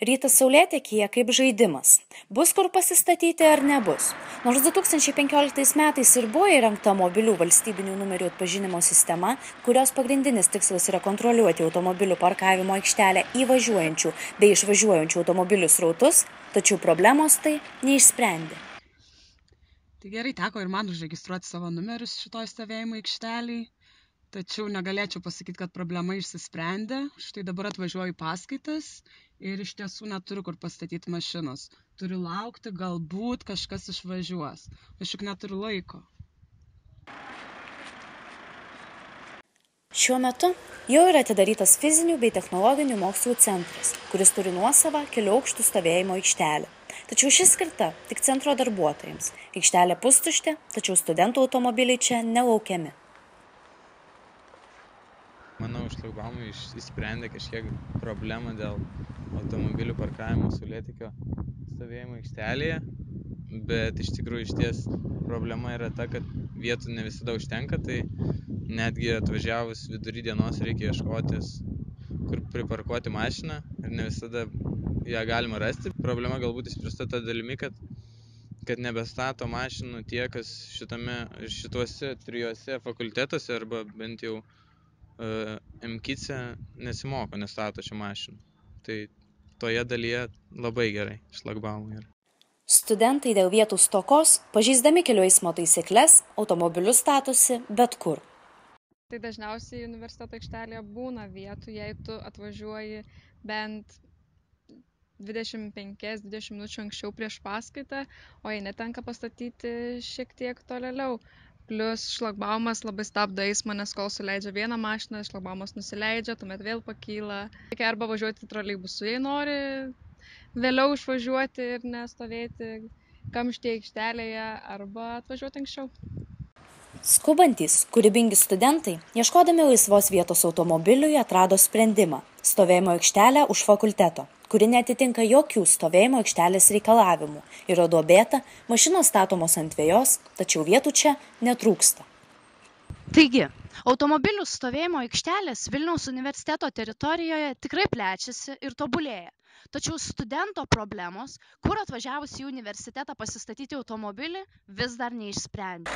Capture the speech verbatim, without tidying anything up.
Rytas Saulėtekyje kaip žaidimas. Bus kur pasistatyti ar nebus? Nors du tūkstančiai penkioliktais metais ir buvo įrengta mobilių valstybinių numerių atpažinimo sistema, kurios pagrindinis tikslas yra kontroliuoti automobilių parkavimo aikštelę įvažiuojančių bei išvažiuojančių automobilių srautus, tačiau problemos tai neišsprendė. Tai gerai, teko ir man užregistruoti savo numerius šitoj stovėjimo aikšteliai, tačiau negalėčiau pasakyti, kad problema išsisprendė. Štai dabar atvažiuoju į paskaitas ir iš tiesų neturiu kur pastatyti mašinos. Turiu laukti, galbūt kažkas išvažiuos. Aš juk neturiu laiko. Šiuo metu jau yra atidarytas fizinių bei technologinių mokslų centras, kuris turi nuosavą kelių aukštų stovėjimo aikštelę. Tačiau ši skirta tik centro darbuotojams. Aikštelė pustuštė, tačiau studentų automobiliai čia nelaukiami. Manau, šlagbaumai išsprendė kažkiek problemą dėl automobilių parkavimo Saulėtekio stovėjimo aikštelėje, bet iš tikrųjų išties problema yra ta, kad vietų ne visada užtenka, tai netgi atvažiavus vidury dienos reikia ieškotis, kur priparkuoti mašiną ir ne visada ją galima rasti. Problema galbūt išspręsta ta dalimi, kad, kad nebestato mašinų tie, kas šitame, šituose trijuose fakultetuose arba bent jau Uh, M K I C E nesimoko, nestato šią mašiną. Tai toje dalyje labai gerai šlagbaumai yra. Studentai dėl vietų stokos, pažeisdami kelių eismo taisykles, automobilius statosi bet kur. Tai dažniausiai universiteto aikštelėje būna vietų, jei tu atvažiuoji bent dvidešimt penkias dvidešimt minučių anksčiau prieš paskaitą, o jei netenka pastatyti šiek tiek tolėliau. Plius šlagbaumas labai stabdo eismą, nes kol suleidžia vieną mašiną, šlagbaumas nusileidžia, tuomet vėl pakyla. Reikia arba važiuoti troleibusu, jei nori vėliau išvažiuoti ir nestovėti kamštyje aikštelėje, arba atvažiuoti anksčiau. Skubantys, kūrybingi studentai, ieškodami laisvos vietos automobiliui, atrado sprendimą – stovėjimo aikštelę už fakulteto, kuri neatitinka jokių stovėjimo aikštelės reikalavimų. Yra duobėta, mašinos statomos ant vejos, tačiau vietų čia netrūksta. Taigi, automobilių stovėjimo aikštelės Vilniaus universiteto teritorijoje tikrai plečiasi ir tobulėja. Tačiau studento problemos, kur atvažiavus į universitetą pasistatyti automobilį, vis dar neišsprendė.